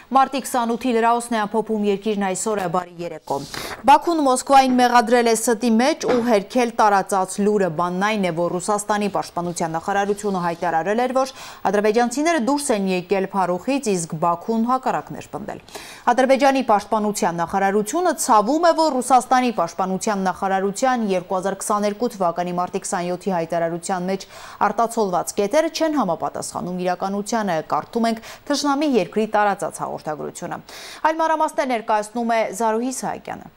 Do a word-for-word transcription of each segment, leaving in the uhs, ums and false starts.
Մարտի քսանութի լրահոսն է ամփոփում երկիրն այսօր է, բարի երեկո։ Բաքուն Մոսկվային մեղադրել է ստի մեջ ու հերքել տարածած լուրը, բանն այն է, որ Ռուսաստանի պաշտպանության նախարարությունը հայտարարել էր, որ ադրբեջանցիները դուրս են եկել Փարուխից, իսկ Բաքուն հակառակն էր պնդել։ Ադրբեջանի պաշտպանության նախարարությունը ցավում է, որ Ռուսաստանի պաշտպանության նախարարության երկու հազար քսաներկու թվականի մարտի քսանյոթի հայտարարության մեջ արտացոլված կետերը չեն համապատասխանում իրականությանը, կարդում ենք թշնամի երկրի տարածած հաղորդագրությունը։ Այլ մանրամասներ ներկայացնում է Զարուհի Սահակյանը։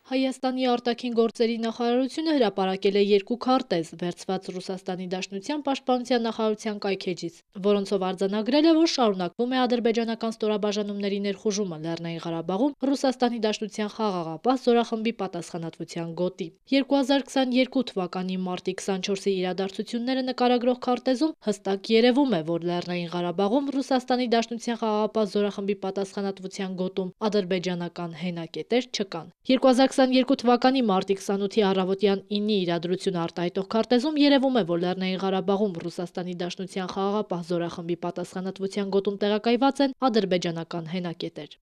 Հայաստանի արտաքին գործերի նախարարությունը հրապարակել է երկու քարտեզ, վերցված Ռուսաստանի Դաշնության պաշտպանության նախարարության կայքէջից, որոնցով արձանագրել է, որ շարունակվում է ադրբեջանական ստորաբաժանումների ներխուժումը Լեռնային Ղարաբաղում Ռուսաստանի Դաշնության խաղաղապահ զորախմբի պատասխանատվության գոտի։ երկու հազար քսաներկու թվականի մարտի քսանչորսի իրադարձությունները նկարագրող քարտեզում հստակ երևում է, որ Լեռնային Ղարաբաղում Ռուսաստանի Դաշնության խաղաղապահ զորախմբի պատասխանատվության գոտում ադրբեջանական հենակետեր չկան։ երկու հազար քսաներկու թվականի մարտի քսանութի առավոտյան ինի իրադրությունը արտահայտող քարտեզում երևում է, որ Լեռնային Ղարաբաղում Ռուսաստանի Դաշնության խաղաղապահ զորախմբի պատասխանատվության գոտում տեղակայված են ադրբեջանական հենակետեր։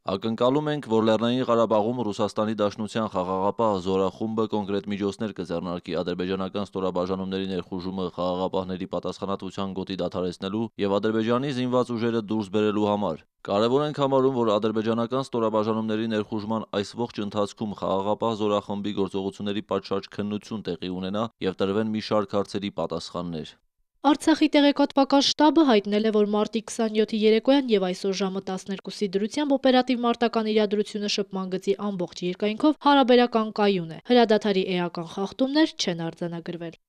Ակնկալում ենք, որ Լեռնային Ղարաբաղում Ռուսաստանի Դաշնության խաղաղապահ զորախումբը կոնկրետ միջոցներ կձեռնարկի ադրբեջանական ստորաբաժանումների ներխուժումը խաղաղապահների պատասխանատվության գոտի դադարեցնելու եւ Ադրբեջանի զինված ուժերը դուրս բերելու համար։ Կարևոր ենք համարում, որ ադրբեջանական ստորաբաժանումների ներխուժման այս ողջ ընթացքում խաղաղապահ զորախմբի գործողությունների պատշաճ քննություն տեղի ունենա եւ տրվեն մի շարք հարցերի պատասխաններ։ Արցախի տեղեկատվական շտաբը հայտնել է, որ մարտի քսանյոթի երեկոյան եւ այսօր ժամը տասներկուսի դրությամբ օպերատիվ մարտական իրադրությունը շփման գծի ամբողջ երկայնքով հարաբերական կայուն է։ Հրադադարի էական խախտումներ չեն արձանագրվել։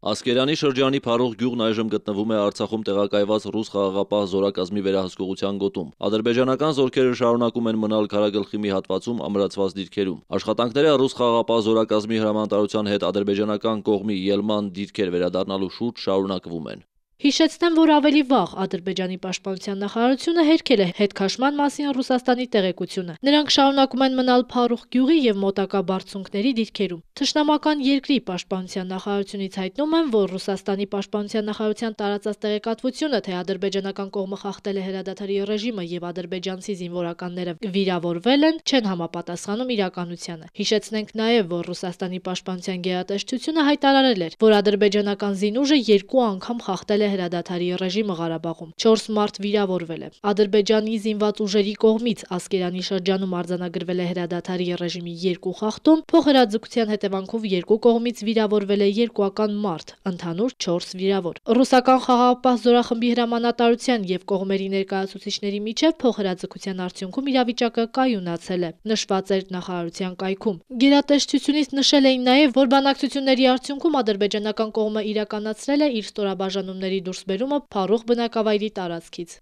Ասկերանի շրջանի Փարուխ գյուղն այժմ գտնվում է Արցախում տեղակայված ռուս խաղաղապահ զորակազմի վերահսկողության գոտում։ Ադրբեջանական զորքերը շարունակում են մնալ Քարագլխի մի հատվածում ամրացված դիրքերում։ Աշխատանքները ռուս խաղաղապահ զորակազմի հրամանատարության հետ ադրբեջանական կողմի ելման դիրքեր վերադառնալու շուրջ շարունակվում են։ Հիշեցնեմ, որ ավելի վաղ Ադրբեջանի պաշտպանության նախարարությունը հերքել է հետքաշման մասին Ռուսաստանի տեղեկությունը։ Նրանք շարունակում են մնալ Փարուխ գյուղի եւ մոտակա բարձունքների դիրքերում։ Թշնամական երկրի պաշտպանության նախարարությունից հայտնում են, որ Ռուսաստանի պաշտպանության նախարարության տարածած տեղեկատվությունը, թե ադրբեջանական կողմը խախտել է հրադադարի ռեժիմը եւ ադրբեջանցի զինվորականները վիրավորվել են, չեն համապատասխանում իրականությանը։ Հիշեցնենք նաեւ, որ Ռուսաստանի պաշտպանության գերատեսչությունը հայտարարել էր, որ ադրբեջանական զինուժը երկու անգամ խախտել է հրադադարի ռեժիմը Ղարաբաղում։ չորս մարդ վիրավորվել է։ Ադրբեջանի զինված ուժերի կողմից Ասկերանի շրջանում արձանագրվել է հրադադարի ռեժիմի երկու խախտում, փոխհրաձգության հետևանքով երկու կողմից վիրավորվել է երկուական մարդ, ընդհանուր չորս վիրավոր։ Ռուսական խաղաղապահ զորախմբի հրամանատարության եւ կողմերի ներկայացուցիչների միջև փոխհրաձգության արդյունքում իրավիճակը կայունացել է, նշված էր նախարարության կայքում։ Գերատեսչությունից նշել էին նաեւ, որ բանակցությունների արդյունքում ադրբեջանական կողմը իրականացրել է իր ստորաբաժանումների դուրսբերումը Փարուխ բնակավայրի տարածքից։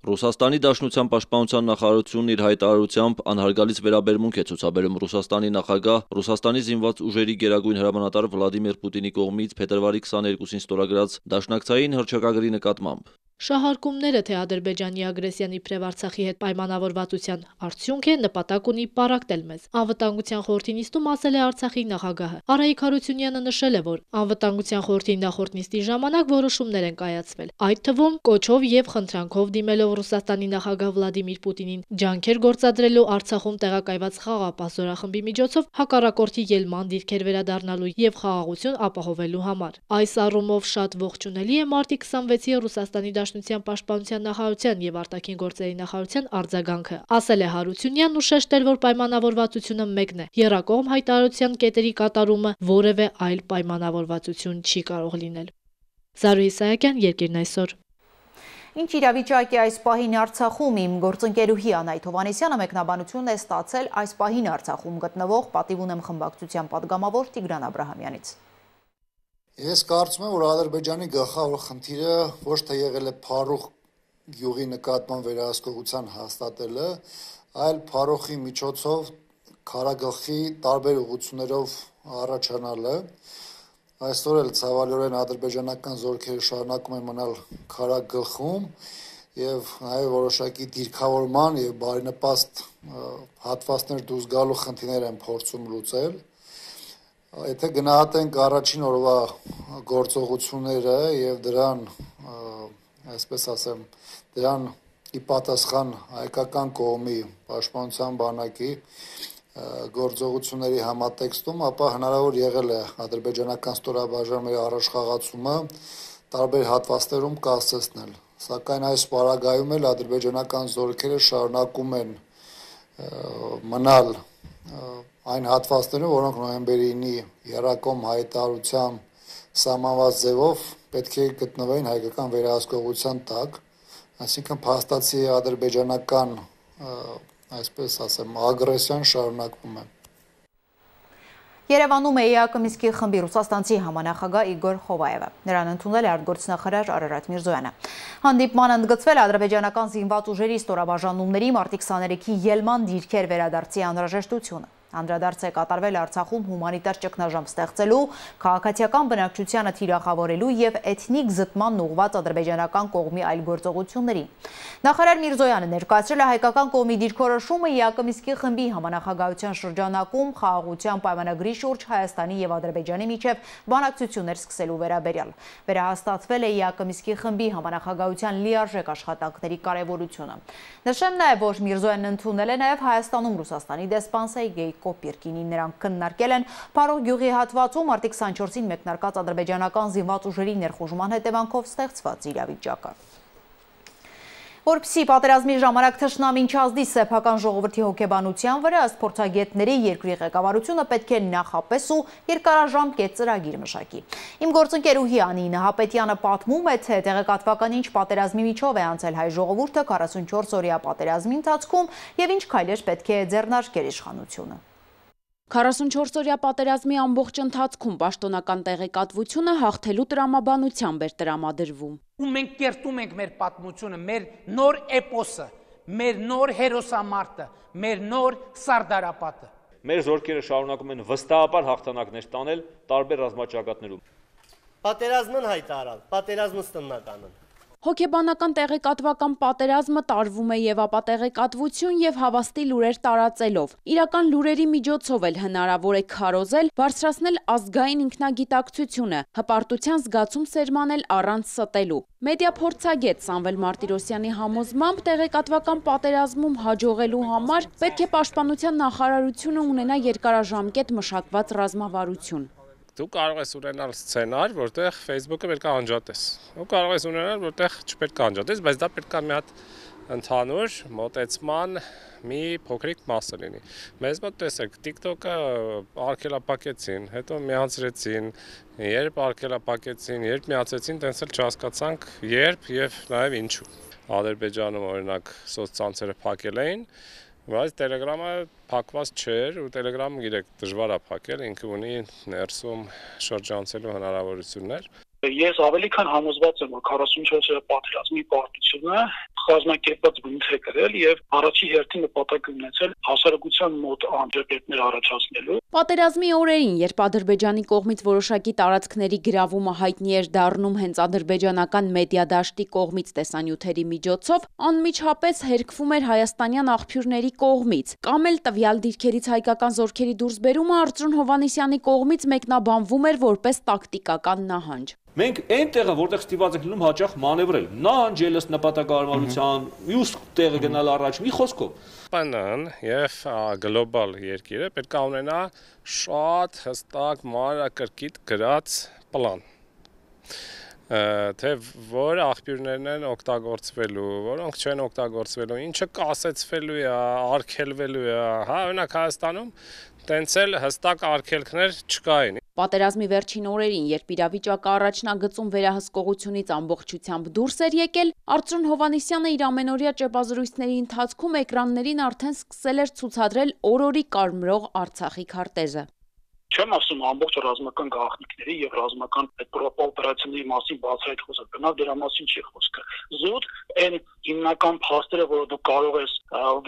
Ռուսաստանի Դաշնության պաշտպանության նախարարությունն իր հայտարարությամբ անհարգալից վերաբերմունք է ցուցաբերում Ռուսաստանի նախագահ, Ռուսաստանի զինված ուժերի գերագույն հրամանատար Վլադիմիր Պուտինի կողմից փետրվարի քսաներկուսին ստորագրած դաշնակցային հռչակագրի նկատմամբ։ Շահարկումները, թե Ադրբեջանի ագրեսիան իբրև Արցախի հետ պայմանավորվածության արդյունք է, նպատակ ունի պառակտել մեզ։ Անվտանգության խորհրդի նիստում ասել է Արցախի նախագահը։ Արայիկ Հարությունյանը նշել է, որ Անվտանգության խորհրդի նախորդ նիստի ժամանակ որոշումներ են կայացվել, այդ թվում կոչով եւ խնդրանքով դիմելով Ռուսաստանի նախագահ Վլադիմիր Պուտինին ջանքեր գործադրելու Արցախում տեղակայված խաղաղապահ զորախմբի միջոցով հակառակորդի ելման դիրքեր վերադառնալու եւ խաղաղություն ապահովելու համար։ Այս առումով շատ ողջունելի է մարտի քսանվեցի Ռուսաստանի Դաշնության պաշտպանության նախարարության եւ արտաքին գործերի նախարարության արձագանքը, ասել է Հարությունյանն ու շեշտել, որ պայմանավորվածությունը մեկն է։ Եռակողմ հայտարարության կետերի կատարումը որևէ այլ պայմանավորվածություն չի կարող լինել։ Զարուհի Սահակյան, Երկիրն այսօր։ Ինչ իրավիճակ է այս պահին Արցախում, իմ գործընկերուհի Անահիտ Հովհաննիսյանը մեկնաբանություն է ստացել այս պահին Արցախում գտնվող պատիվ ունեմ խմբակցության պատգամավոր Տիգրան Աբրահամյանից։ Ես կարծում եմ, որ Ադրբեջանի գլխավոր խնդիրը ոչ թե եղել է Փարուխ գյուղի նկատմամբ վերահսկողության հաստատելը, այլ Փարուխի միջոցով Քարագլխի տարբեր ուղղություններով առաջանալը։ Այսօր էլ ցավալիորեն ադրբեջանական զորքերը շարունակում են մնալ Քարագլխում եւ նաեւ որոշակի դիրքավորման եւ բարենպաստ հատվածներ դուրս գալու խնդիրներ են փորձում լուծել։ Եթե գնահատենք առաջին օրվա գործողությունները եւ դրան, այսպես ասեմ, դրան ի պատասխան հայկական կողմի պաշտպանության բանակի գործողությունների համատեքստում, ապա հնարավոր եղել է ադրբեջանական ստորաբաժանումների առաջխաղացումը տարբեր հատվածներում կասեցնել։ Սակայն այս պարագայում էլ ադրբեջանական զորքերը շարունակում են մնալ այն հատվածներում, որոնք նոյեմբերի ինի եռակողմ հայտարարությամբ սահմանված ձևով պետք է գտնվեին հայկական վերահսկողության տակ, այսինքն փաստացի ադրբեջանական, այսպես ասեմ, ագրեսիան շարունակվում է։ Երևանում է ԵԱԿ Մինսկի խմբի ռուսաստանցի համանախագահ Իգոր Խովայևը։ Նրան ընդունել է արտգործնախարար Արարատ Միրզոյանը։ Հանդիպման ընդգծվել ադրբեջանական զինված ուժերի ստորաբաժանումների մարտի քսաներեքի ելման դիրքեր վերադարձի անհրաժեշտությունը։ Անդրադարձ է կատարվել Արցախում հումանիտար ճգնաժամ ստեղծելու, քաղաքացիական բնակչությանը թիրախավորելու եւ էթնիկ զտման ուղղված ադրբեջանական կողմի այլ գործողություններին։ Նախարար Միրզոյանը ներկայացրել է հայկական կողմի դիրքորոշումը ԵԱԿ Մինսկի խմբի համանախագահության շրջանակում խաղաղության պայմանագրի շուրջ Հայաստանի եւ Ադրբեջանի միջև բանակցություններ սկսելու վերաբերյալ։ Վերահաստատվել է ԵԱԿ Մինսկի խմբի համանախագահության լիարժեք աշխատանքների կարևորությունը։ Նշեմ նաեւ, որ Միրզոյանն ընդունել է նաեւ Հայաստանում Ռուսաստանի դեսպան Սերգեյ Կոպիրկինին, նրանք քննարկել են Փարող գյուղի հատվածում մարտի քսանչորսին մեկնարկած ադրբեջանական զինված ուժերի ներխուժման հետևանքով ստեղծված իրավիճակը։ Որպեսզի պատերազմի ժամանակ թշնամին չազդի սեփական ժողովրդի հոգեբանության վրա, ըստ փորձագետների երկրի ղեկավարությունը պետք է նախապես ու երկարաժամկետ ծրագիր մշակի։ Իմ գործընկերուհի Անի Նահապետյանը պատմում է, թե տեղեկատվական ինչ պատերազմի միջով է անցել հայ ժողովուրդը քառասունչորս օրյա պատերազմի ընթացքում եւ ինչ քայլեր պետք է ձեռնարկեր իշխանությունը։ քառասունչորս օրյա պատերազմի ամբողջ ընթացքում պաշտոնական տեղեկատվությունը հաղթելու տրամաբանությամբ էր տրամադրվում։ Ու մենք կերտում ենք մեր պատմությունը, մեր նոր էպոսը, մեր նոր հերոսամարտը, մեր նոր սարդարապատը։ Մեր զորքերը շարունակում են վստահաբար հաղթանակներ տանել տարբեր ռազմաճակատներում։ Պատերազմն հայտարարել, պատերազմը ստնականն։ Հոգեբանական տեղեկատվական պատերազմը տարվում է եւ ապատեղեկատվություն եւ հավաստի լուրեր տարածելով։ Իրական լուրերի միջոցով էլ հնարավոր է քարոզել, բարձրացնել ազգային ինքնագիտակցությունը, հպարտության զգացում սերմանել առանց ստելու։ Մեդիա փորձագետ Սամվել Մարտիրոսյանի համոզմամբ տեղեկատվական պատերազմում հաջողելու համար պետք է պաշտպանության նախարարությունը ունենա երկարաժամկետ մշակված ռազմավարություն։ Դու կարող ես ունենալ սցենար, որտեղ Facebook-ը պետք է անջատես։ Ու կարող ես ունենալ, որտեղ չպետք է անջատես, բայց դա պետք է մի հատ ընդհանուր մոտեցման մի փոքրիկ մասը լինի։ Մեզ մոտ տեսեք, TikTok-ը արգելափակեցին, հետո միացրեցին, երբ արգելափակեցին, երբ միացրեցին, տենց էլ չհասկացանք երբ եւ նաեւ ինչու։ Ադրբեջանում օրինակ սոցցանցերը փակել էին, բայց Telegram-ը փակված չէր ու Telegram-ը գիտեք դժվար է փակել, ինքը ունի ներսում շրջանցելու հնարավորություններ։ Ես ավելի քան համոզված եմ, որ քառասունչորս օրյա պատերազմի պարտությունը կազմակերպված բնույթ է կրել եւ առաջի հերթին նպատակ ունեցել հասարակության մոտ անջատներ առաջացնելու։ Պատերազմի օրերին, երբ Ադրբեջանի կողմից որոշակի տարածքների գրավումը հայտնի էր դառնում հենց ադրբեջանական մեդիա դաշտի կողմից տեսանյութերի միջոցով, անմիջապես հերկվում էր հայաստանյան աղբյուրների կողմից, կամ էլ տվյալ դիրքերից հայկական զորքերի դուրսբերումը Արծրուն Հովհաննիսյանի կողմից մեկնաբանվում էր որպես տակտիկական նահանջ։ Մենք այնտեղը, որտեղ ստիպված ենք լինում հաճախ մանևրել, նահանջել ըստ նպատակահարմարության, մյուս տեղը գնալ առաջ, մի խոսքով։ ՊՆ-ն եւ գլոբալ երկիրը պետք է ունենա շատ հստակ մանրակրկիտ գրած պլան, թե որ աղբյուրներն են օգտագործվելու, որոնք չեն օգտագործվելու, ինչը կասեցվելու է, արգելվելու է, հա, օրինակ Հայաստանում տենց էլ հստակ արգելքներ չկային։ Պատերազմի վերջին օրերին, երբ իրավիճակը առաջնագծում վերահսկողությունից ամբողջությամբ դուրս էր եկել, Արծրուն Հովհաննիսյանը իր ամենօրյա ճեպազրույցների ընթացքում էկրաններին արդեն սկսել էր ցուցադրել օր-օրի կարմրող Արցախի քարտեզը։ Չեմ ասում ամբողջ ռազմական գաղտնիքների եւ ռազմական օպերացիաների մասին բացահայտ խոսքը, բնավ դրա մասին չի խոսքը։ Զուտ այն հիմնական փաստերը, որ դու կարող ես,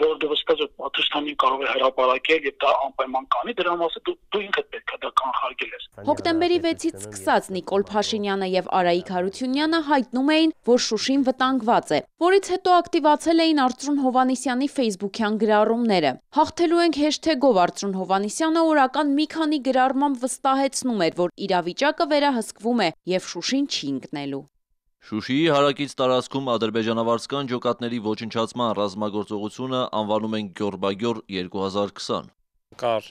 որ դու վստահ ես, պատասխանին կարող է հրապարակել եւ դա անպայման կանի, դրա մասին դու դու ինքդ պետք է դա կանխարգել ես։ Հոկտեմբերի վեցից սկսած Նիկոլ Փաշինյանը եւ Արայիկ Հարությունյանը հայտնում էին, որ Շուշին վտանգված է, որից հետո ակտիվացել էին Արծրուն Հովհաննիսյանի Facebook-յան գրառումները։ Հաղթելու ենք հեշթեգով Արծրուն Հովհաննիսյանը օրական մի քանի գրառմամբ վստահեցնում էր, որ իրավիճակը վերահսկվում է եւ Շուշին չի ընկնելու։ Շուշիի հարակից տարածքում ադրբեջանավարսկան ջոկատների ոչնչացման ռազմագործողությունը անվանում են Գյորբագյոր երկու հազար քսան։ Կար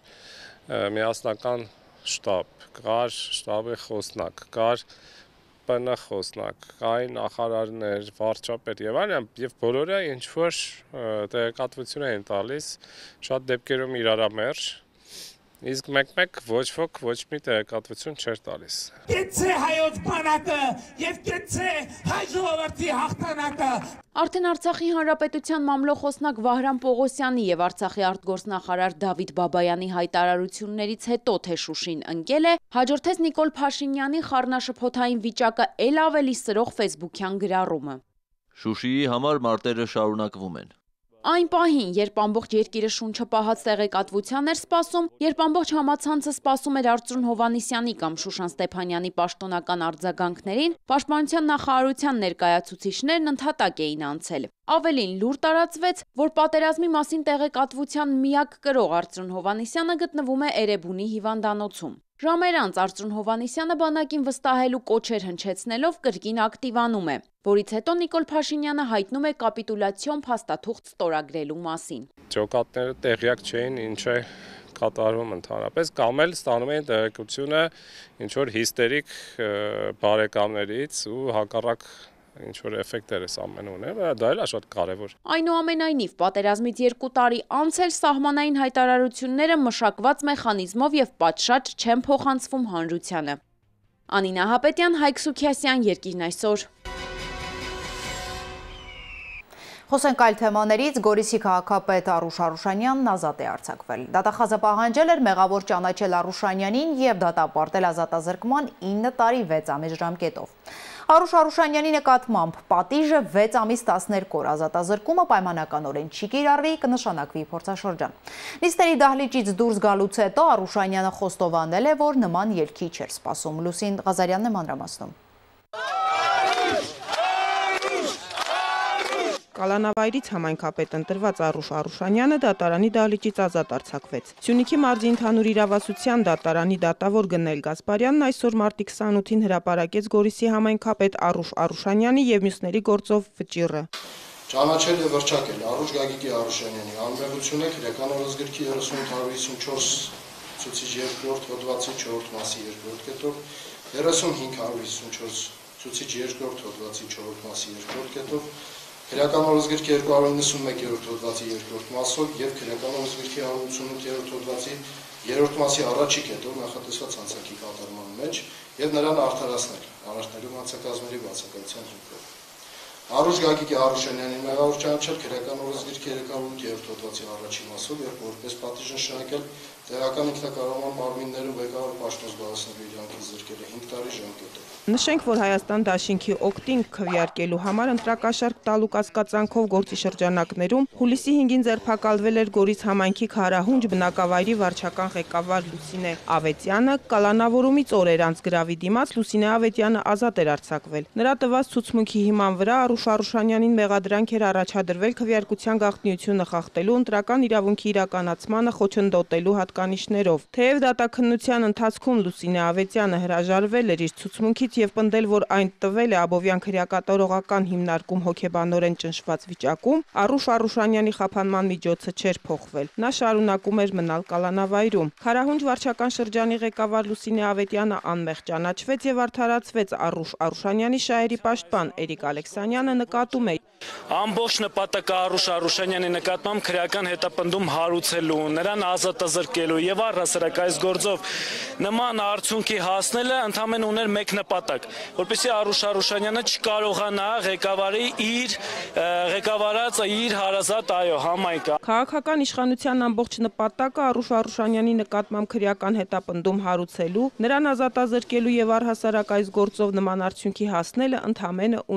միասնական շտաբ, կար շտաբի խոսնակ, կար ՊՆ խոսնակ, կային նախարարներ, վարչապետ եւ այլն, եւ բոլորը ինչ որ տեղեկատվություն էին տալիս, շատ դեպքերում իրարամերժ, իսկ մեկ-մեկ ոչ ոք ոչ մի տեղեկատվություն չէր տալիս։ Գեցե հայոց բանակը եւ գեցե հայ ժողովրդի հաղթանակը։ Արդեն Արցախի Հանրապետության մամլոխոսնակ Վահրամ Պողոսյանի եւ Արցախի արտգործնախարար Դավիթ Բաբայանի հայտարարություններից հետո թե Շուշին ընկել է, հաջորդեց Նիկոլ Փաշինյանի խառնաշփոթային վիճակը ել ավելի սրող ֆեյսբուքյան գրառումը։ Շուշիի համար մարտերը շարունակվում են։ Այն պահին, երբ ամբողջ երկիրը շունչը պահած տեղեկատվության էր սպասում, երբ ամբողջ համացանցը սպասում էր Արծրուն Հովհաննիսյանի կամ Շուշան Ստեփանյանի պաշտոնական արձագանքներին, Պաշտպանության նախարարության ներկայացուցիչներն ընդհատակ էին անցել։ Ավելին լուր տարածվեց, որ պատերազմի մասին տեղեկատվության միակ կրող Արծրուն Հովհաննիսյանը գտնվում է Էրեբունի հիվանդանոցում։ Ժամեր անց Արծրուն Հովհաննիսյանը բանակին վստահելու կոչեր հնչեցնելով կրկին ակտիվանում է, որից հետո Նիկոլ Փաշինյանը հայտնում է կապիտուլյացիոն փաստաթուղթ ստորագրելու մասին։ Ջոկատները տեղյակ չէին ինչ է կատարվում ընդհանրապես, կամ էլ ստանում էին տեղեկությունը ինչ որ հիստերիկ բարեկամներից ու հակառակ ինչ որ էֆեկտեր է ամեն ունի, դա էլ է շատ կարևոր։ Այնուամենայնիվ, պատերազմից երկու տարի անց էլ սահմանային հայտարարությունները մշակված մեխանիզմով եւ պատշաճ չեն փոխանցվում հանրությանը։ Անինա Հապետյան, Հայկ Սուքիասյան, Երկիրն այսօր։ Խոսենք այլ թեմաներից, Գորիսի քաղաքապետ Արուշ Արուշանյանն ազատ է արձակվել։ Դատախազը պահանջել էր մեղավոր ճանաչել Արուշանյանին եւ դատապարտել ազատազրկման ինը տարի վեց ամիս ժամկետով։ Արուշ Արուշանյանի նկատմամբ պատիժը վեց ամիս տասներկու օր, ազատազրկումը պայմանականորեն չի կիրառվի, կնշանակվի փորձաշրջան։ Նիստերի դահլիճից դուրս գալուց հետո Արուշանյանը խոստովանել է, որ նման ելքի չէր սպասում։ Լուսին Ղազարյանն է մանրամասնում։ Կալանավայրից համայնքապետ ընտրված Արուշ Արուշանյանը դատարանի դահլիճից ազատ արձակվեց։ Սյունիքի մարզի ընդհանուր իրավասության դատարանի դատավոր Գնել Գասպարյանն այսօր մարտի քսանութին հրապարակեց Գորիսի համայնքապետ Արուշ Արուշանյանի եւ մյուսների գործով վճիռը։ Ճանաչել է վրճակել Արուշ Գագիկի Արուշանյանի անմեղությունը քրեական օրենսգրքի երեսուն հարյուր հիսունչորս ցուցիչ երկրորդ հոդվածի չորրորդ մասի երկրորդ կետով, երեսունհինգ հարյուր հիսունչորս ցուցիչ երկրորդ հոդվածի չորրորդ մասի երկրորդ կետով, քրեական օրենսգրքի երկու հարյուր նվեցնմեկերորդ հոդվածի երկրորդ մասով եւ քրեական օրենսգրքի հարյուր ութսունութերորդ հոդվածի երրորդ մասի առաջի կետով նախատեսված հանցակի կատարման մեջ եւ նրան արդարացնել առաջնելու հանցակազմերի բացակայության հիմքով։ Արուշ Գագիկի Արուշանյանին մեղավոր ճանաչել քրեական օրենսգրքի երեք հարյուր ութ հոդվածի առաջի մասով եւ որպես պատիժ նշանակել տեղական ինքնակառավարման մարմիններում ղեկավար պաշտոն զբաղեցնելու իրավունքից զրկելը հինգ տարի ժամկետով։ Նշենք, որ Հայաստան դաշինքի օգտին քվեարկելու համար ընտրակաշարք տալու կասկածանքով գործի շրջանակներում հուլիսի հինգին ձերբակալվել էր Գորիս համայնքի Քարահունջ բնակավայրի վարչական ղեկավար Լուսինե Ավետյանը, կալանավորումից օրեր անց գրավի դիմաց Լուսինե Ավետյանը ազատ էր արձակվել։ Նրա տված ցուցմունքի հիման վրա Արուշ Արուշանյանին մեղադրանք էր առաջադրվել քվեարկության գաղտնիությունը խախտելու, ընտրական իրավունքի իրականացմանը խոչընդոտելու հատկանիշներով։ Թեև դատաքննության ընթացքում Լուսինե Ավետյանը հրաժարվել էր իր ցուցմունքից եւ պնդել, որ այն տվել է Աբովյան քրեակատարողական հիմնարկում հոգեբանորեն ճնշված վիճակում, Արուշ Արուշանյանի խափանման միջոցը չէր փոխվել։ Նա շարունակում էր մնալ կալանավայրում։ Քարահունջ վարչական շրջանի ղեկավար Լուսինե Ավետյանը անմեղ ճանաչվեց եւ արդարացվեց Արուշ Արուշանյանի շահերի պաշտպան Էրիկ Ալեքսանյանը նկատում է. Ամբողջ նպատակը Արուշ Արուշանյանի նկատմամբ քրեական հետապնդում հարուցելու, նրան ազատազրկելու եւ առհասարակ այս գործով նման արդյունքի հասնելը ընդհանրապես ուներ մեկ նպատակ, որպեսզի Արուշ Արուշանյանը չկարողանա ղեկավարի իր ղեկավարած իր հարազատ այո համայնքը։ Քաղաքական իշխանության ամբողջ նպատակը Արուշ Արուշանյանի նկատմամբ քրեական հետապնդում հարուցելու, նրան ազատազրկելու եւ առհասարակ այս գործով նման արդյունքի հասնելը ընդհանրապես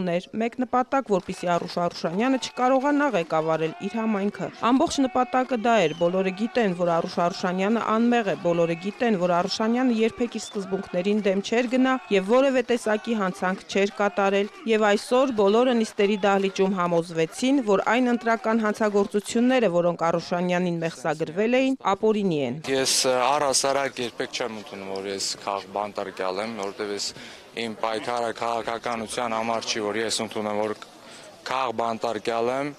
ուներ մեկ նպատակ, որպեսզի Արուշ Արուշանյանը չկարողանա ղեկավարել իր համայնքը։ Ամբողջ նպատակը դա էր։ Բոլորը գիտեն, որ Արուշ Արուշանյանը անմեղ է, բոլորը գիտեն, որ Արուշանյանը երբեք իր սկզբունքներին դեմ չէր գնա եւ որևէ տեսակի հանցանք չէր կատարել, եւ այսօր բոլորը նիստերի դահլիճում համոզվեցին, որ այն ընտրական հանցագործությունները, որոնք Արուշանյանին մեղսագրվել էին, ապօրինի են։ Ես առհասարակ երբեք չեմ ընդունում, որ ես քաղաք բանտարկյալ եմ, որովհետեւ ես իմ պայքարը քաղաքականության համար չի, որ ես ընդունեմ, որ քաղ բանտարկյալ եմ։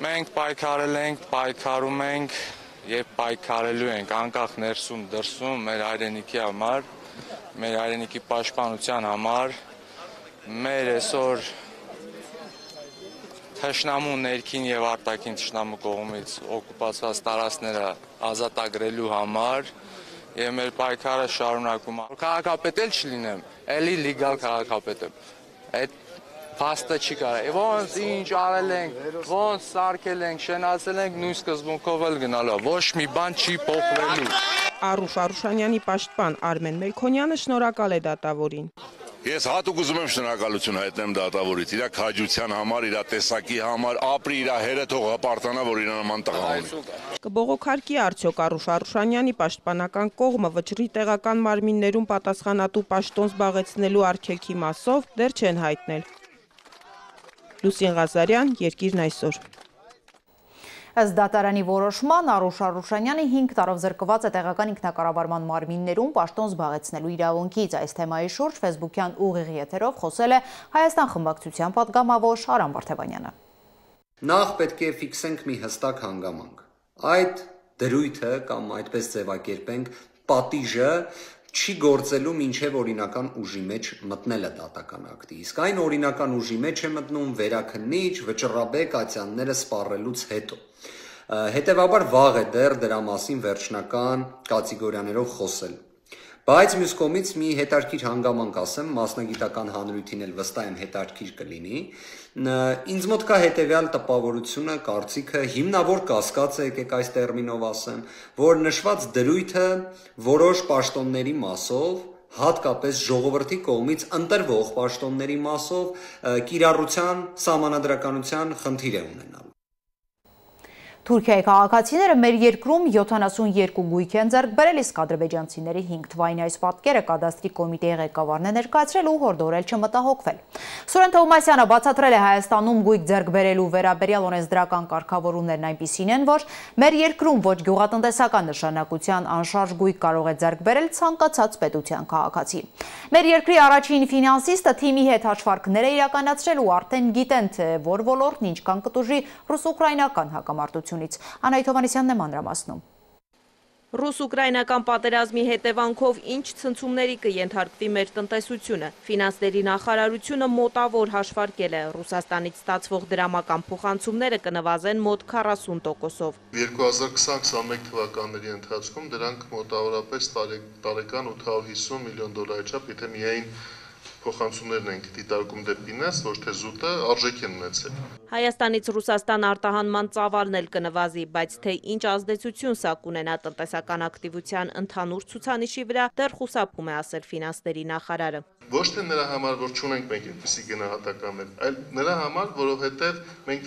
Մենք պայքարել ենք, պայքարում ենք եւ պայքարելու ենք անկախ ներսում դրսում մեր հայրենիքի համար, մեր հայրենիքի պաշտպանության համար, մեր այսօր թշնամու ներքին եւ արտաքին թշնամու կողմից օկուպացված տարածքները ազատագրելու համար եւ մեր պայքարը շարունակում է։ Քաղաքապետ էլ չլինեմ, էլի լեգալ քաղաքապետ եմ։ Այդ փաստը չի կարա։ Ոնց ինչ արել ենք, ոնց սարքել ենք, շենացել ենք, նույն սկզբունքով էլ գնալու։ Ոչ մի բան չի փոխվելու։ Արուշ Արուշանյանի պաշտպան Արմեն Մելքոնյանը շնորհակալ է դատավորին։ Ես հատուկ ուզում եմ շնորհակալություն հայտնեմ դատավորից, իր քաջության համար, իր տեսակի համար, ապրի իր հերը թող հպարտանա, որ իր նման տղա ունի։ Կբողոքարկի արդյոք Արուշ Արուշանյանի պաշտպանական կողմը վճռի տեղական մարմիններում պատասխանատու պաշտոն զբաղեցնելու արգելքի մասով դեռ չեն հայտնել։ Լուսին Ղազարյան, Երկիրն այսօր։ Ըստ դատարանի որոշման Արուշ Արուշանյանը հինգ տարով զրկված է տեղական ինքնակառավարման մարմիններում պաշտոն զբաղեցնելու իրավունքից։ Այս թեմայի շուրջ ֆեյսբուքյան ուղիղ եթերով խոսել է Հայաստան խմբակցության պատգամավոր Արամ Վարդևանյանը։ Նախ պետք է ֆիքսենք մի հստակ հանգամանք։ Այդ դրույթը կամ այդպես ձևակերպենք պատիժը չի գործելու մինչև օրինական ուժի մեջ մտնելը դատական ակտի։ Իսկ այն օրինական ուժի մեջ է մտնում վերաքննիչ, վճռաբեկ ատյանները սպառելուց հետո։ Հետևաբար վաղ է դեռ դրա մասին վերջնական կատեգորիաներով խոսել։ Բայց մյուս կողմից մի հետարքիր հանգամանք ասեմ, մասնագիտական հանրույթին էլ վստահ եմ հետարքիր կլինի։ Ինձ մոտ կա հետևյալ տպավորությունը, կարծիքը, հիմնավոր կասկած է, եկեք այս տերմինով ասեմ, որ նշված դրույթը որոշ պաշտոնների մասով, հատկապես ժողովրդի կողմից ընտրվող պաշտոնների մասով կիրառության, սահմանադրականության խնդիր է ունենալու։ Թուրքիայի քաղաքացիները մեր երկրում յոթանասունյոթ գույք են ձեռք բերել, իսկ ադրբեջանցիների հինգ թվային այս պատկերը կադաստրի կոմիտեի ղեկավարն է ներկայացրել ու հորդորել չմտահոգվել։ Սուրեն Թովմասյանը բացատրել է Հայաստանում գույք ձեռք բերելու վերաբերյալ օրենսդրական կարգավորումներն այնպիսին են, որ մեր երկրում ոչ գյուղատնտեսական նշանակության անշարժ գույք կարող է ձեռք բերել ցանկացած պետության քաղաքացի։ Մեր երկրի առաջին ֆինանսիստը թիմի հետ հաշվարկներ է իրականացրել ու արդեն գիտեն, թե որ ոլորտն ինչքան կտուժի ռուս-ուկրաինական հակամարտությունից։ Անահիտ Հովհաննիսյանն է մանրամասնում։ Ռուս-ուկրաինական պատերազմի հետևանքով ինչ ցնցումների կենթարկվի մեր տնտեսությունը։ Ֆինանսների նախարարությունը մոտավոր հաշվարկել է, Ռուսաստանից ստացվող դրամական փոխանցումները կնվազեն մոտ քառասուն տոկոսով։ երկու հազար քսան քսանմեկ թվականների ընթացքում դրանք մոտավորապես տարեկան ութ հարյուր հիսուն միլիոն դոլարի չափ, եթե միայն փոխանցումներն ենք դիտարկում դեպի ներս, ոչ թե զուտը արժեք են ունեցել։ Հայաստանից Ռուսաստան արտահանման ծավալն էլ կնվազի, բայց թե ինչ ազդեցություն սա կունենա տնտեսական ակտիվության ընդհանուր ցուցանիշի վրա, դեռ խուսափում է ասել ֆինանսների նախարարը։ Ոչ թե նրա համար, որ չունենք մենք այդպիսի գնահատականներ, այլ նրա համար, որովհետև մենք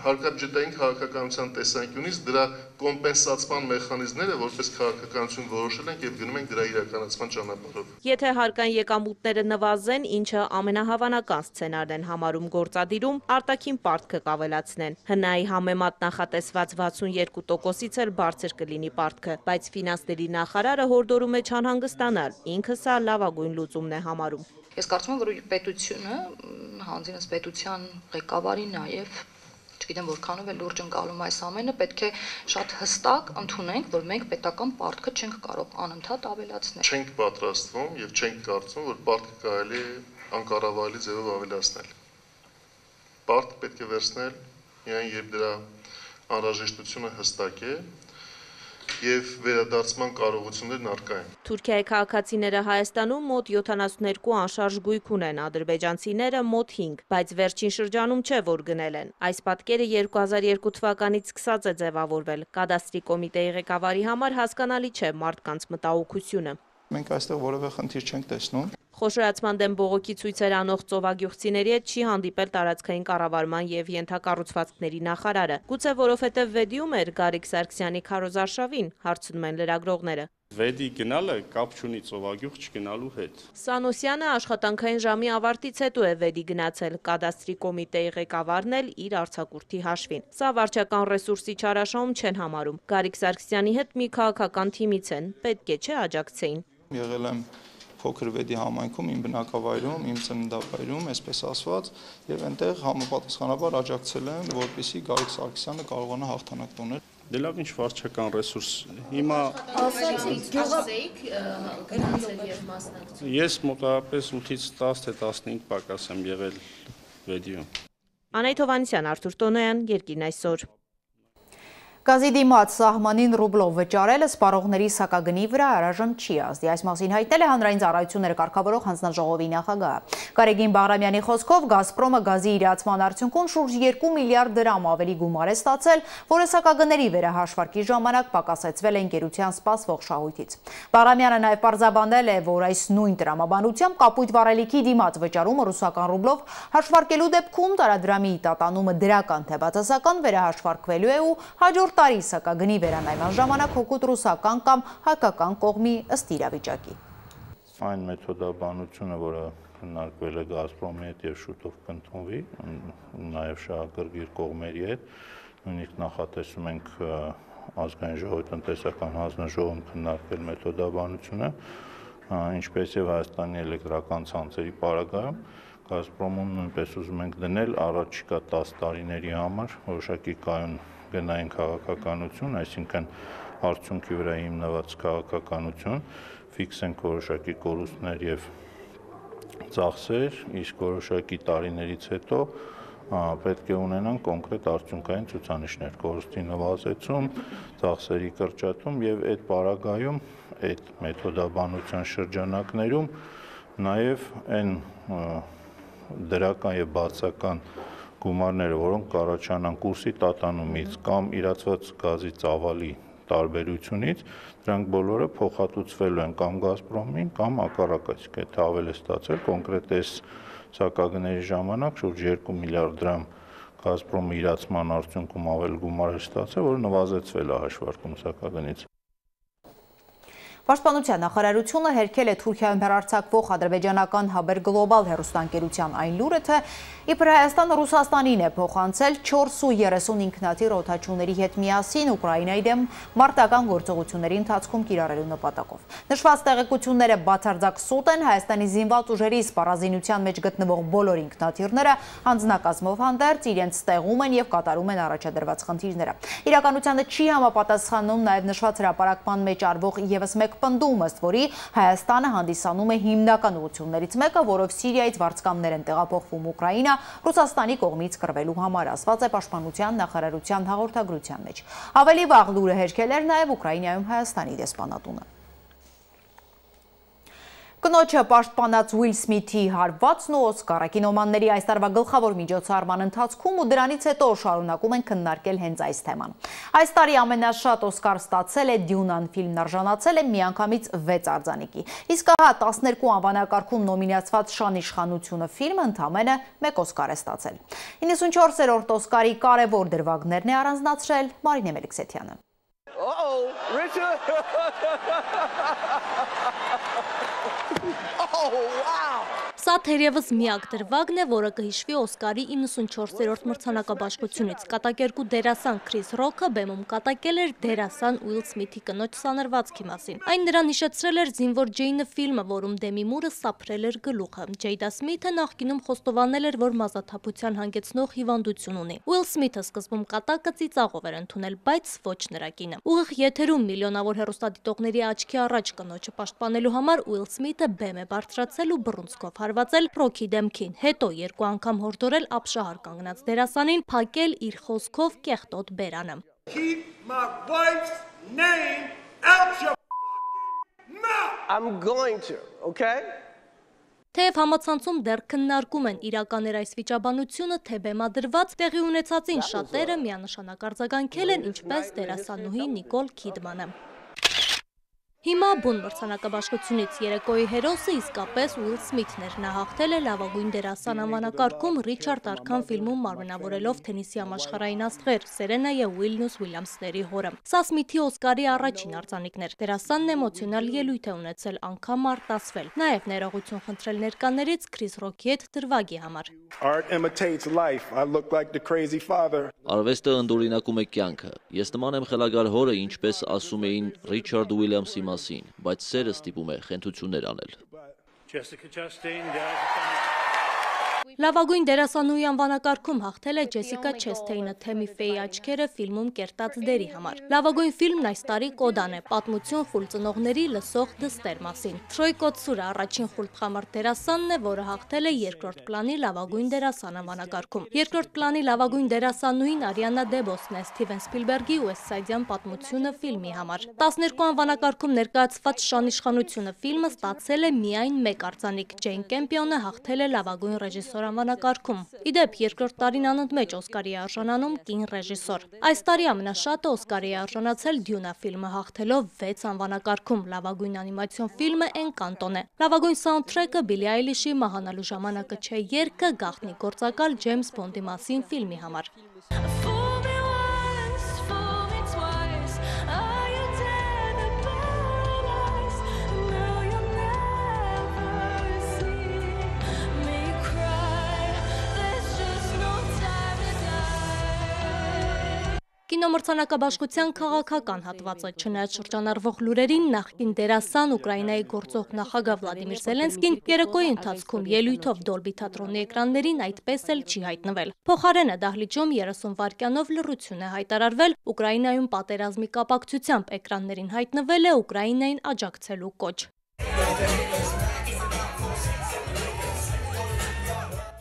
հարկաբյուջետային քաղաքականության տեսանկյունից դրա կոմպենսացման մեխանիզմները որպես քաղաքականություն որոշել ենք եւ գնում ենք դրա իրականացման ճանապարհով։ Եթե հարկային եկամուտները նվազեն, ինչը ամենահավանական սցենարն են համարում գործադիրում, արտաքին պարտքը կավելացնեն։ Հնայի համեմատ նախատեսված վաթսունյոթ տոկոսից էլ բարձր կլինի պարտքը, բայց ֆինանսների նախարարը հորդորում է չանհանգստանալ, ինքը սա լավագույն լուծումն է համարում։ Ես կարծում եմ, որ պետությունը, հանձինս պետության ղեկավարի նաև, չգիտեմ որքանով է լուրջ ընկալում այս ամենը, պետք է շատ հստակ ընդունենք, որ մենք պետական պարտքը չենք կարող անընդհատ ավելացնել։ Չենք պատրաստվում եւ չենք կարծում, որ պարտքը կարելի է անկառավարելի ձևով ավելացնել։ Պարտք պետք է վերցնել միայն երբ դրա անհրաժեշտությունը հստակ է եւ վերադարձման կարողություններն առկա են։ Թուրքիայի քաղաքացիները Հայաստանում մոտ յոթանասունյոթ անշարժ գույք ունեն, ադրբեջանցիները մոտ հինգ, բայց վերջին շրջանում չէ, որ գնել են։ Այս պատկերը երկու հազար երկու թվականից սկսած է ձևավորվել։ Կադաստրի կոմիտեի ղեկավարի համար հասկանալի չէ մարդկանց մտահոգությունը։ Մենք այստեղ որևէ խնդիր չենք տեսնում։ Խոշորացման դեմ բողոքի ցույցեր անող ծովագյուղցիների հետ չի հանդիպել տարածքային կառավարման եւ ենթակառուցվածքների նախարարը։ Գուցե որովհետեւ Վեդիում էր Գարիկ Սարգսյանի քարոզարշավին, հարցնում են լրագրողները։ Վեդի գնալը կապ չունի ծովագյուղ չգնալու հետ։ Սանոսյանը աշխատանքային ժամի ավարտից հետո է Վեդի գնացել, կադաստրի կոմիտեի ղեկավարն էլ իր արձակուրդի հաշվին։ Սա վարչական ռեսուրսի չարաշահում չեն համարում։ Գարիկ Սարգսյանի հետ մի քաղաքական թիմից են, պետք է չէ աջակցեին։ Եղել եմ փոքր վեդի համայնքում, իմ բնակավայրում, իմ ծննդավայրում, այսպես ասված, եւ այնտեղ համապատասխանաբար աջակցել են, որպեսզի Գարիկ Սարգսյանը կարողանա հաղթանակ տոնել։ Դե լավ, ինչ վարչական ռեսուրս։ Հիմա ես մոտավորապես ութից տասը թե տասնհինգ պակաս եմ եղել վեդիում։ Անահիտ Հովհաննիսյան, Արթուր Տոնոյան, Երկիրն այսօր։ Գազի դիմաց սահմանին ռուբլով վճարելը սպառողների սակագնի վրա առայժմ չի ազդի։ Այս մասին հայտնել է հանրային ծառայությունները կարգավորող հանձնաժողովի նախագահը։ Գարեգին Բաղրամյանի խոսքով Գազպրոմը գազի իրացման արդյունքում շուրջ երկու միլիարդ դրամ ավելի գումար է ստացել, որը սակագների վերահաշվարկի ժամանակ պակասեցվել է ընկերության սպասվող շահույթից։ Բաղրամյանը նաև պարզաբանել է, որ այս նույն տրամաբանությամբ կապույտ վառելիքի դիմաց վճարումը ռուսական ռուբլով հաշվարկելու դեպքում տարադրամի տատանումը դրական թե բացասական վերահաշվարկվելու է ու հաջորդ տարի սակագնի վերանայման ժամանակ հօգուտ ռուսական կամ հայկական կողմի ըստ իրավիճակի։ Այն մեթոդաբանությունը, որը քննարկվել է Գազպրոմի հետ եւ շուտով կընդունվի, նաեւ շահագրգիռ կողմերի հետ, նույնիսկ նախատեսում ենք ազգային ժողովի տնտեսական հանձնաժողովում քննարկել մեթոդաբանությունը, ինչպես եւ Հայաստանի էլեկտրական ցանցերի պարագայում Գազպրոմում նույնպես ուզում ենք դնել առաջիկա տասը տարիների համար որոշակի կայուն գնային քաղաքականություն, այսինքն արդյունքի վրա հիմնված քաղաքականություն, ֆիքսենք որոշակի կորուստներ եւ ծախսեր, իսկ որոշակի տարիներից հետո պետք է ունենան կոնկրետ արդյունքային ցուցանիշներ, կորուստի նվազեցում, ծախսերի կրճատում եւ այդ պարագայում, այդ մեթոդաբանության շրջանակներում նաեւ այն դրական եւ բացական գումարները, որոնք կառաջանան կուրսի տատանումից կամ իրացված գազի ծավալի տարբերությունից, դրանք բոլորը փոխհատուցվելու են կամ Գազպրոմին, կամ հակառակը, եթե ավել է ստացել, կոնկրետ այս սակագների ժամանակ շուրջ երկու միլիարդ դրամ Գազպրոմի իրացման արդյունքում ավել գումար է ստացել, որը նվազեցվել է հաշվարկում սակագնից։ Պաշտպանության նախարարությունը հերքել է Թուրքիայում հեռարձակվող ադրբեջանական Haber Global հեռուստաընկերության այն լուրը, թե իբր Հայաստանը Ռուսաստանին է փոխանցել չորս ու երեսուն ինքնաթիռ օդաչուների հետ միասին Ուկրաինայի դեմ մարտական գործողությունների ընթացքում կիրառելու նպատակով։ Նշված տեղեկությունները բացարձակ սուտ են, Հայաստանի զինված ուժերի սպառազինության մեջ գտնվող բոլոր ինքնաթիռները անձնակազմով հանդերձ իրենց ստեղում են եւ կատարում են առաջադրված խնդիրները։ Իրականությանը չի համապատասխանում նաեւ նշված հրապարակման մեջ արվող եւս մեկ պնդում, ըստ որի Հայաստանը հանդիսանում է հիմնական ուղղություններից մեկը, որով Սիրիայից վարձկամներ են տեղափոխվում Ուկրաինա Ռուսաստանի կողմից կռվելու համար, ասված է Պաշտպանության նախարարության հաղորդագրության մեջ։ Ավելի վաղ լուրը հերքել էր նաև Ուկրաինայում Հայաստանի դեսպանատունը։ Կնոջը պաշտպանած Ուիլ Սմիթի հարվածն ու Օսկարը կինոմանների այս տարվա գլխավոր միջոցառման ընթացքում ու դրանից հետո շարունակում են քննարկել հենց այս թեման։ Այս տարի ամենաշատ Օսկար ստացել է Դյունան, ֆիլմն արժանացել է միանգամից վեց արձանիկի։ Իսկ ահա տասներկու անվանակարգում նոմինացված Շան իշխանությունը ֆիլմը ընդամենը մեկ Օսկար է ստացել։ իննսունչորսերորդ Օսկարի կարևոր դրվագներն է առանձնացրել Մարինե Մելիքսեթյանը։ Uh-oh, Richard! Oh, wow! Սա թերևս միակ դրվագն է, որը կհիշվի Օսկարի իննսունչորսերորդ մրցանակաբաշխությունից։ Կատակերգու դերասան Քրիս Ռոքը բեմում կատակել էր դերասան Ուիլ Սմիթի կնոջ սանրվածքի մասին։ Այն նրան հիշեցրել էր Զինվոր Ջեյնը ֆիլմը, որում Դեմի Մուրը սափրել էր գլուխը։ Ջեյդա Սմիթը նախկինում խոստովանել էր, որ մազաթափության հանգեցնող հիվանդություն ունի։ Ուիլ Սմիթը սկզբում կատակը ծիծաղով էր ընդունել, բայց ոչ նրա կինը։ Ուղիղ եթերում միլիոնավոր հեռուստադիտողների աչքի առաջ կնոջը պաշտպանելու համար Ուիլ Սմիթը բեմ է բարձրացել ու բռունցքով հարվածել Ռոքի դեմքին, հետո երկու անգամ հորդորել ապշահար կանգնած դերասանին փակել իր խոսքով կեղտոտ բերանը։ Keep my wife's name out your mouth. I'm going to, okay? Թեև համացանցում դեռ քննարկում են իրական էր այս վիճաբանությունը, թե բեմադրված տեղի ունեցածին շատերը միանշանակ արձագանքել են, ինչպես դերասանուհի Նիկոլ Քիդմանը։ Հիմա բուն մրցանակաբաշխությունից երեկոյի հերոսը իսկապես Ուիլ Սմիթն էր։ Նա հաղթել է լավագույն դերասան անվանակարգում Ռիչարդ Արքան ֆիլմում մարմնավորելով թենիսի համաշխարհային աստղեր Սերենա եւ Ուիլնյուս Ուիլյամսների հորը։ Սա Սմիթի Օսկարի առաջին արձանիկն էր։ Դերասանն էմոցիոնալ ելույթ է ունեցել, անգամ արտասվել։ Նաեւ ներողություն խնդրել ներկաներից Քրիս Ռոքի հետ դրվագի համար։ Art imitates life. I look like the crazy father. Արվեստը ընդօրինակում է կյանքը։ Ես նման եմ խելագար հորը, ինչպես ասում էին Ռիչարդ Ուիլյամսի մասին, բայց սերը ստիպում է խենթություններ անել։ Jessica Chastain, Լավագույն դերասանուհի անվանակարգում հաղթել է Ջեսիկա Չեսթեյնը Թեմի Ֆեյի աչքերը ֆիլմում կերտած դերի համար։ Լավագույն ֆիլմն այս տարի Կոդան է, պատմություն խուլ ծնողների լսող դստեր մասին։ Թրոյ Կոտսուրը առաջին խուլտխամար դերասանն է, որը հաղթել է երկրորդ պլանի լավագույն դերասան անվանակարգում։ Երկրորդ պլանի լավագույն դերասանուհին Արիանա Դեբոսն է Սթիվեն Սպիլբերգի Ուեսթսայդյան պատմությունը ֆիլմի համար։ տասներկու անվանակարգում ներկայացված Շանիշխանությունը ֆիլմը ստացել է միայն մեկ արձանիկ։ Ջեյն Կեմպիոնը հաղթել է լավագույն ռեժիսոր անվանակարգում։ Իդեպ երկրորդ տարին անընդմեջ Օսկարի է արժանանում կին ռեժիսոր։ Այս տարի ամենաշատը Օսկարի է արժանացել Դյունա ֆիլմը հաղթելով վեց անվանակարգում։ Լավագույն անիմացիոն ֆիլմը Էնկանտոն է։ Լավագույն սաունդթրեքը Բիլի Այլիշի Մահանալու ժամանակը չէ երգը գաղտնի գործակալ Ջեյմս Բոնդի մասին ֆիլմի համար։ Կինոմրցանակաբաշխության քաղաքական հատվածը չնայած շրջանառվող լուրերին նախկին դերասան Ուկրաինայի գործող նախագահ Վլադիմիր Զելենսկին երեկոյի ընթացքում ելույթով Դոլբի թատրոնի էկրաններին այդպես էլ չի հայտնվել։ Փոխարենը դահլիճում երեսուն վայրկյանով լռություն է հայտարարվել Ուկրաինայում պատերազմի կապակցությամբ էկրաններին հայտնվել է Ուկրաինային աջակցելու կոչ։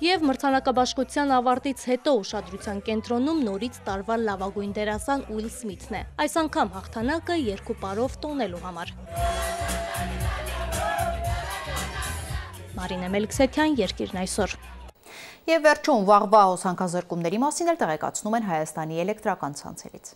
Եվ մրցանակաբաշխության ավարտից հետո ուշադրության կենտրոնում նորից տարվա լավագույն դերասան Ուիլ Սմիթն է։ Այս անգամ հաղթանակը երկու պարով տոնելու համար։ Մարինե Մելքսեթյան, Երկիրն այսօր։ Եվ վերջում վաղվա հոսանքազրկումների մասին էլ տեղեկացնում են Հայաստանի էլեկտրական ցանցերից։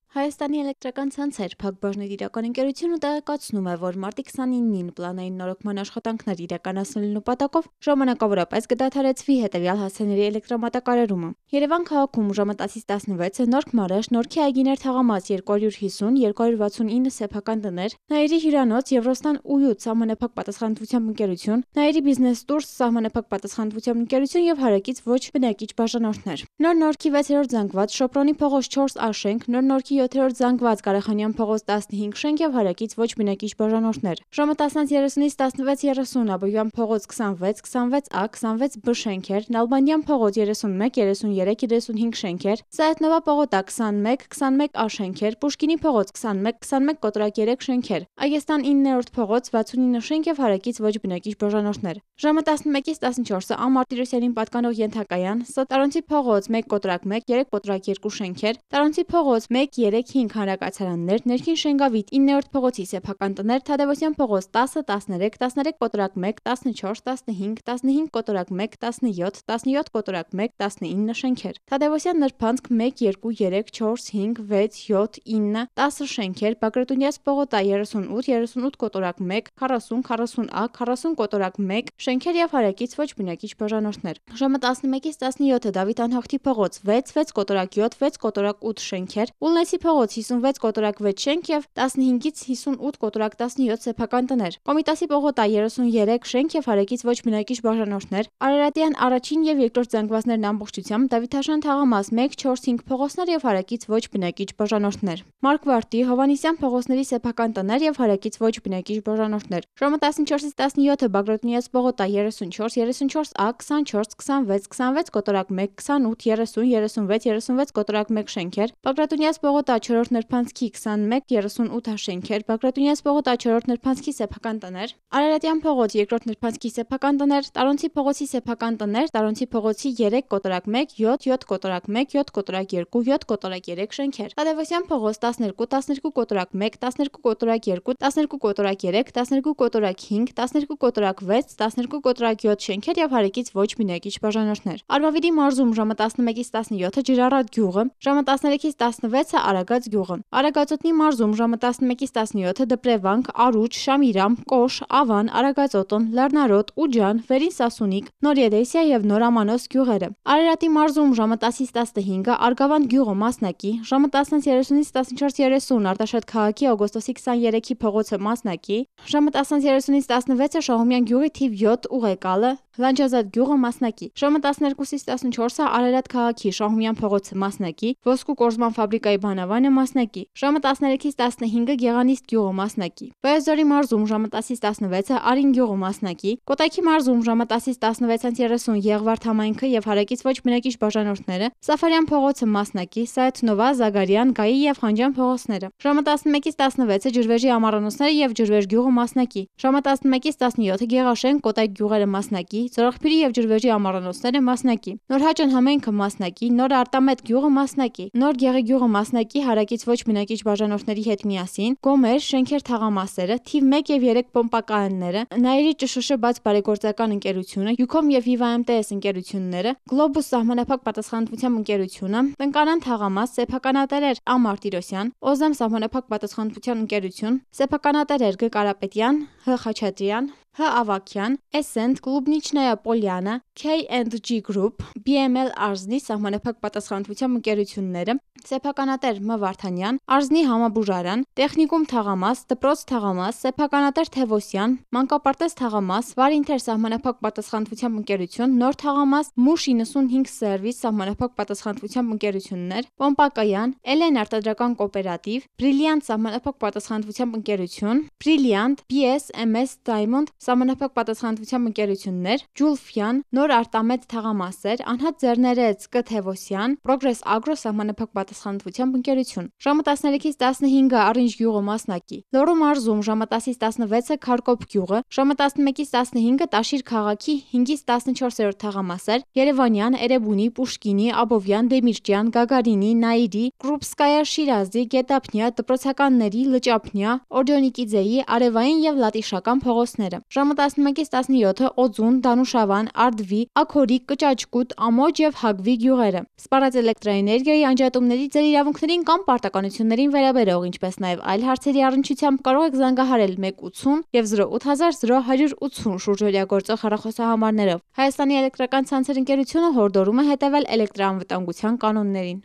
Հայաստանի էլեկտրական ցանցեր Փակbaşնետ իրական ընկերությունը տեղեկացնում է, որ մարտի քսանինին պլանային նորոգման աշխատանքներ իրականացնելու նպատակով ժամանակավորապես կդադարեցվի հետևյալ հասցեների էլեկտրամատակարարումը։ Երևան քաղաքում ժամը տասից տասնվեցը Նորք Մարաշ, Նորքի Այգիներ թաղամաս երկու հարյուր հիսուն երկու հարյուր վաթսունինը սեփական տներ, Նաիրի հյուրանոց, Եվրոստան ՈՒՅՈՒ սահմանափակ պատասխանատվությամբ ընկերություն, Նաիրի բիզնես տուրս սահմանափակ պատասխանատվությամբ ընկերություն եւ հարակից ոչ բնակիչ բաժանորդներ։ Նոր Նորքի վեցերորդ զանգված Շոպրոնի փողոց չորս ա շենք, Նոր Նորքի յոթերորդ զանգված Կարախանյան փողոց տասնհինգ շենք եւ հարակից ոչ բնակիչ բաժանորդներ։ Ժամը տասնից երեսունից տասնվեց երեսուն Աբովյան փողոց քսանվեց, քսանվեց ա, քսանվեց բ շենքեր, Նալբանդյան փողոց երեսունմեկ, երեսունյերեք, երեսունհինգ շենքեր, Սայաթնովա պողոտա քսանմեկ, քսանմեկ ա շենքեր, Պուշկինի փողոց քսանմեկ, քսանմեկ կոտրակ երեք շենքեր, Այգեստան իններորդ փողոց վաթսունինը շենք եւ հարակից ոչ բնակիչ բաժանորդներ։ Ժամը տասնմեկից տասնչորսը Ա Մարտիրոսյանին պատկանող ենթակայան, Տարոնցի փողոց մեկ կոտրակ մեկ, երեք կոտրակ երկու շենքեր, Տարոնցի փողոց մեկ, երեք, հինգ հանրակացարաններ, Ներքին Շենգավիթ իններորդ փողոցի սեփական տներ, Թադևոսյան փողոց տասը, տասներեք, տասներեք կոտրակ մեկ, տասնչորս, տասնհինգ, տասնհինգ կոտրակ մեկ, տասնյոթ, տասնյոթ կոտրակ մեկ, տասնինը շենքեր, Թադևոսյան նրբանցք մեկ, երկու, երեք, չորս, հինգ, վեց, յոթ, ինը, տասը շենքեր, Բագրատունյաց պողոտա երեսունութ, երեսունութ կոտրակ մեկ, քառասուն, քառասուն ա, քառասուն կոտրակ մեկ, շենքեր եւ հարակից ոչ բնակիչ բաժանորդներ։ Ժամը տասնմեկից տասնյոթը Դավիթ Անհախտի փողոց վեց, վեց կոտրակ յոթ, վեց կոտրակ ութ շենքեր, Ուլնեցի փողոց հիսունվեց կոտրակ վեց շենք եւ տասնհինգից հիսունութ կոտրակ տասնյոթ սեփական տներ, Կոմիտասի պողոտա երեսունյերեք շենք եւ հարակից ոչ բնակիչ բաժանորդներ, Արարատյան առաջին եւ երկրորդ զանգվածներն ամբողջությամբ, Դավիթաշան թաղամաս մեկ, չորս, հինգ փողոցներ եւ հարակից ոչ բնակիչ բաժանորդներ, Մարկվարտի, Հովանիսյան փողոցների սեփական տներ եւ հարակից ոչ բնակիչ բաժանորդներ։ Ժամը տասնչորսից տասնյոթը Բագրատունյաց պողոտա երեսունչորս, երեսունչորս ա, քսանչորս, քսանվեց, քսանվեց կոտրակ մեկ, քսանութ, երեսուն, երեսունվեց, երեսունվեց կոտրակ մեկ շենքեր, Բագրատունյաց պողոտա չորրորդ նրբանցքի քսանմեկ, երեսունութ շենքեր, Բագրատունյաց պողոտա չորրորդ նրբանցքի սեփական տներ, Արարատյան փողոց երկրորդ նրբանցքի սեփական տներ, Տարոնցի փողոցի սեփական տներ, Տարոնցի փողոցի երեք կոտրակ մեկ, յոթ, յոթ կոտրակ մեկ, յոթ կոտրակ երկու, յոթ կոտրակ երեք շենքեր, Թադևոսյան փողոց տասներկու, տասներկու կոտրակ մեկ, տասներկու կոտրակ երկու, տասներկու կոտրակ երեք, տասներկու կոտրակ հինգ, տասներկու կոտրակ վեց, տասներկու կոտրակ յոթ շենքեր եւ հարակից ոչ բնակիչ բաժանորդներ։ Արմավիրի մարզում ժամը տասնմեկից տասնյոթը Ջրառատ գյուղը, ժամը տասներեքից տասնվեցը Արագած գյուղը, Արագածոտնի մարզում ժամը տասնմեկից տասնյոթը Դպրևանք, Արուջ, Շամիրամ, Կոշ, Ավան, Արագածոտն, Լեռնարոտ, Ուջան, Վերին Սասունիկ, Նորեդեսիա եւ Նորամանոս գյուղերը։ Արարատի մարզում ժամը տասից տասնհինգը Արգավանդ գյուղը Մասնակի, ժամը տասնից երեսունից տասնչորս երեսուն Արտաշատ քաղաքի օգոստոսի քսաներեքի փողոցը Մասնակի, ժամը տասնից երեսունից տասնվեցը Շահումյան գյուղի թիվ յոթ Ուղեկալը, Լանջազատ գյուղը Մասնակի, ժամը տասներկուսից տասնչորսը Արարատ քաղաքի Շահումյան փողոցը Մասնակի, Ոսկու կորզման ֆաբրիկայի բանավան Անավանը մասնակի, ժամը տասներեքից տասնհինգը Գեղանիստ գյուղը մասնակի, Վայոց-Ձորի մարզում ժամը տասից տասնվեցը Արին գյուղը մասնակի, Կոտայքի մարզում ժամը տասից տասնվեցից երեսուն Եղվարդ համայնքը եւ հարակից ոչ բնակիչ բաժանորդները, Սաֆարյան փողոցը մասնակի, Սայաթնովա, Զագարյան, Գայի եւ Խանջյան փողոցները, ժամը տասնմեկից տասնվեցը Ջրվեժի ամառանոցները եւ Ջրվեժ գյուղը մասնակի, ժամը տասնմեկից տասնյոթը Գեղաշեն, Կոտայք գյուղերը մասնակի, Ծորախփիրի եւ Ջրվեժի ամառանոցները մասնակի, Նորհաճան համայնքը մասնակի, Նոր Արտամետ գյուղը մասնակի, Նոր Գեղի գյուղը մասնակի հարակից ոչ բնակիչ բաժանորդների հետ միասին, Գոմեր, Շենքեր թաղամասերը, թիվ մեկ եւ երեք պոմպակայանները, Նայիրի ՃՇՇ բաց բարեգործական ընկերությունը, Յուքոմ եւ Viva M T S ընկերությունները, Գլոբուս սահմանափակ պատասխանատվությամբ ընկերությունը, Տնկանան թաղամաս, Սեփականատերեր Ա Մարտիրոսյան, Օզեմ սահմանափակ պատասխանատվության ընկերություն, Սեփականատերեր Գ Կարապետյան, Հ Խաչատրյան, Հ Ավակյան, Essent, Клубничная Polyana, K and G Group, B M L Արզնի սահմանափակ պատասխանատվությամբ ընկերությունները, Սեփականատեր Մ Վարդանյան, Արզնի համաբուժարան, Տեխնիկում թաղամաս, Դպրոց թաղամաս, Սեփականատեր Թևոսյան, Մանկապարտեզ թաղամաս, Վարինթեր սահմանափակ պատասխանատվությամբ ընկերություն, Նոր թաղամաս, Մուշ իննսունհինգ Սերվիս սահմանափակ պատասխանատվությամբ ընկերություններ, Պոմպակայան, Էլեն արտադրական կոոպերատիվ, Brilliant սահմանափակ պատասխանատվությամբ ընկերություն, Brilliant, B S M S Diamond սահմանափակ պատասխանատվությամբ ընկերություններ, Ջուլֆյան, Նոր Արտամետ թաղամասեր, Անհատ Ձեռներեց Կ Թևոսյան, Progress Agro սահմանափակ պատասխանատվությամբ ընկերություն, ժամը տասներեքից տասնհինգը Առինջ գյուղը մասնակի, Լոռու մարզում ժամը տասից տասնվեցը Քարկոպ գյուղը, ժամը տասնմեկից տասնհինգը Տաշիր քաղաքի հինգից տասնչորսերորդ թաղամասեր, Երևանյան, Էրեբունի, Պուշկինի, Աբովյան, Դեմիրճյան, Գագարինի, Նայիրի, Կրուպսկայա Շիրազի, Գետափնյա, Դպրոցականների, Լճափնյա, Օրդյոնիկիձեի, Արևային եւ Լատիշական փողոցները, ժամը տասնմեկից տասնյոթը Օձուն, Դանուշավան, Արդվի, Աքորիկ, Կճաճկուտ, Ամոջ եւ Հագվի գյուղերը, Սպարած էլեկտրաէներգիայի անջատումների ձեր իրավունքներին կամ պարտականություններին վերաբերող, ինչպես նաեւ այլ հարցերի առնչությամբ կարող եք զանգահարել մեկ ութսուն եւ զրո ութ հազար զրո հարյուր ութսուն շուրջօրյա գործող հեռախոսահամարներով։ Հայաստանի էլեկտրական ցանցեր ընկերությունը հորդորում է հետևել էլեկտրաանվտանգության կանոններին։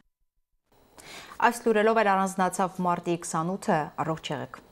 Այս լուրերով էր առանձնացավ մարտի քսանութը, առողջ եղեք։